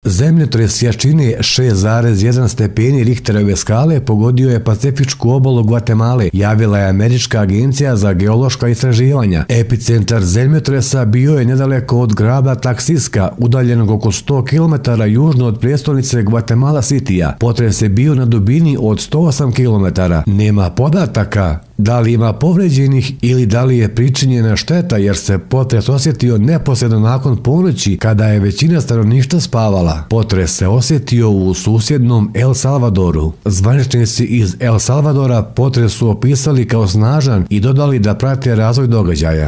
Zemljotres jačine 6,1 stepeni Richterove skale pogodio je pacifičku obalu Gvatemale, javila je Američka agencija za geološka istraživanja. Epicentar zemljotresa bio je nedaleko od grada Taksiska, udaljenog oko 100 km južno od prijestolnice Guatemala Citya. Potres je bio na dubini od 108 km. Nema podataka da li ima povređenih ili da li je pričinjena šteta, jer se potres osjetio neposredno nakon ponoći kada je većina stanovništva spavala. Potres se osjetio u susjednom El Salvadoru. Zvaničnici iz El Salvadora potres su opisali kao snažan i dodali da prate razvoj događaja.